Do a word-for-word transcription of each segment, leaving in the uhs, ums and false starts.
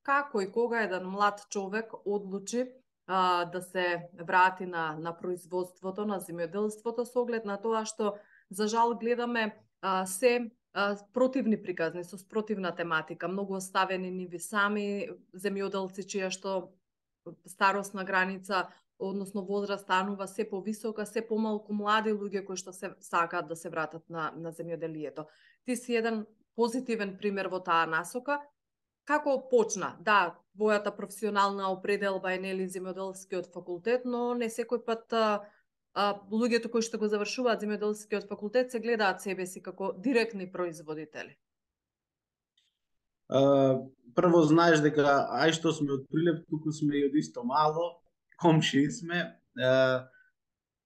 како и кога еден млад човек одлучи а, да се врати на, на производството, на земјоделството, со оглед на тоа што, за жал, гледаме а, се а, противни приказни, со спротивна тематика, многу оставени ниви сами, земјоделци чија што старосна граница, односно возраст станува се повисока, се помалку млади луѓе кои што се сакаат да се вратат на, на земјоделието. Ти си еден позитивен пример во таа насока. Како почна? Да, твојата професионална определба е нели земјоделскиот факултет, но не секој пат а, а, луѓето кои што го завршуваат земјоделскиот факултет се гледаат себе си како директни производители. Uh, прво знаеш дека ај што сме од Прилеп, туку сме и од исто мало, комши сме. Uh,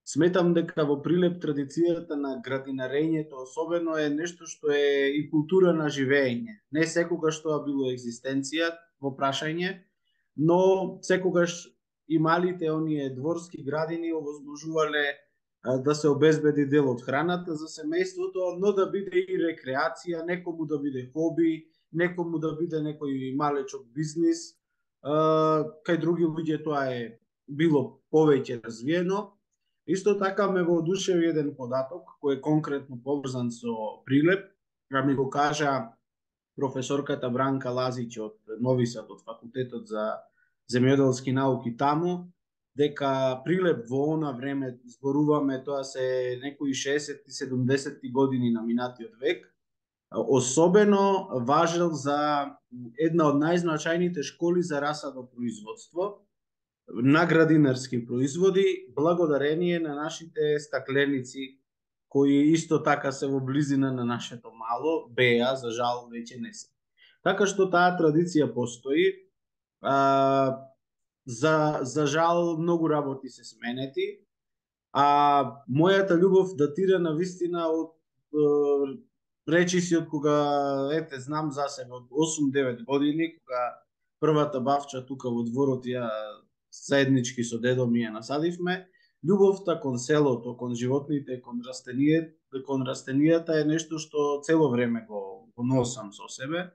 сметам дека во Прилеп традицијата на градинарењето особено е нешто што е и култура на живење. Не секогаш тоа било екзистенција во прашање, но секогаш и малите оние дворски градини овозможувале да се обезбеди дел од храната за семејството, но да биде и рекреација, некому да биде хоби, некому да биде некој малечок бизнис, кај други луѓе тоа е било повеќе развиено. Исто така ме воодушеви еден податок кој е конкретно поврзан со Прилеп, а ми го кажа професорката Бранка Лазич од Нови Сад, од факултетот за земјоделски науки таму, дека Прилеп во она време, зборуваме, тоа се некои шеесетти седумдесетти години на минатиот век, особено важел за една од најзначајните школи за расадопроизводство на градинарски производи, благодарение на нашите стакленици, кои исто така се во близина на нашето мало, беа, за жал, веќе не се. Така што таа традиција постои. А, за, за жал, многу работи се сменети, а мојата љубов датира на вистина од е, речиси од кога, ете, знам за себе, од осум-девет години, кога првата бавча тука во дворот ја заеднички со дедо ми ја насадивме. Љубовта кон селото, кон животните, кон растенијата, кон растенијата е нешто што цело време го, го носам со себе.